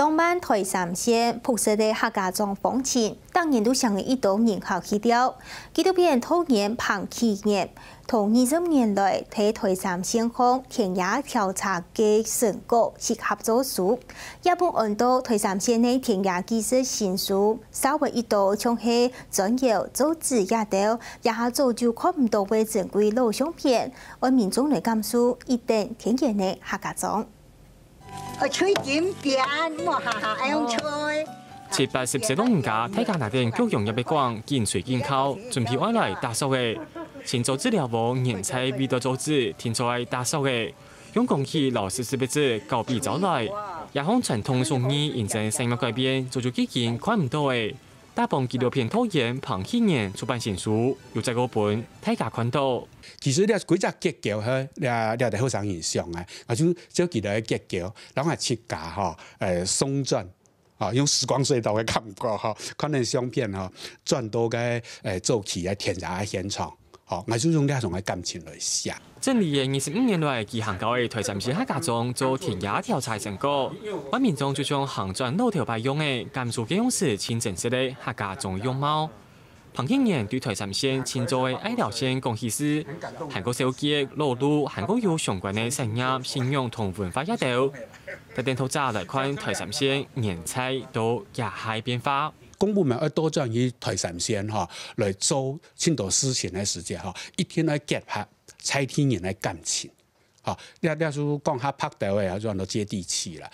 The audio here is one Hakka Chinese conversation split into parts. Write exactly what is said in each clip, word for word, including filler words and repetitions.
浪漫台三線樸實个客家庄風情，逐年都吸引一兜人客去尞。紀錄片導演彭啟源，同二十年來在台三線項田野調查个成果集合做書，也分安到台三線个田野紀實新書，紹介一兜像係磚窯、造紙這兜，這下早就看毋到个珍貴老相片，愛民眾來感受一等天然个客家庄。 哦，吹金邊，莫哈哈，愛用吹。七八十歲老人家，大家拿等各樣个筆管，緊吹緊敲，準備愛來打掃个。清掃紙了無，年菜味道做紙，定著愛打掃个。用工具摎濕濕个紙搞比招來，這項傳統手藝因為產業改變，早就已經看毋到个。 打幫紀錄片導演彭啟源出版新書，又再過分大家看到。其實這歸隻結構係這這兜後生人想个，啊就照佢兜个結構，然後自家吼，呃，送轉，啊用時光隧道个感覺吼，看等相片吼，轉到該呃早期个田野个現場，吼，𠊎就用這種个感情來寫。 整理了二十五年來，佢行到个台三線客家庄做田野調查成果，萬民眾就像行轉老頭擺樣仔，感受該央時盡真實个客家庄樣貌。彭啟源對台三線盡早个愛聊線講起事，還過紹介老路，還過有相關个產業、信仰同文化這兜。帶等讀者來看台三線年菜到這下變化。公部門愛倒轉去台三線吼，來做盡多事情个時節吼，一定愛結合在地人个感情。 吼，這這就講較白兜个，就安到接地氣啦。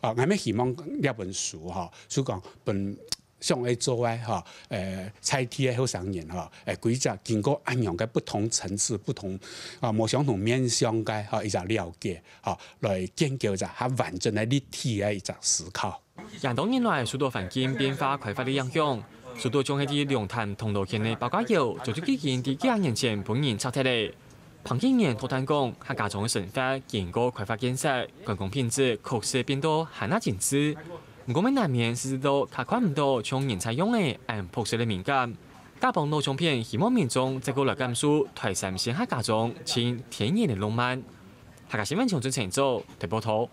啊，𠊎乜希望這本書吼，就講分想愛做个吼，呃，在地个後生人吼，呃，歸隻經過恁樣个不同層次、不同啊無相同面向个吼一隻了解吼，來建構一隻較完整个立體个一隻思考。 這多年來，受到環境變化開發个影響，受到像係在龍潭銅鑼圈个包家窯，早就已經在幾下年前分人拆忒了。彭啟源討論講，客家庄个生活經過開發建設，觀光品質確實變到還較精緻。毋過，乜難免時時都較看毋到像年菜樣仔恁樸實个美感。打幫老相片，希望民眾再過來感受台三線客家庄盡天然个浪漫。客家新聞從真誠做台報導。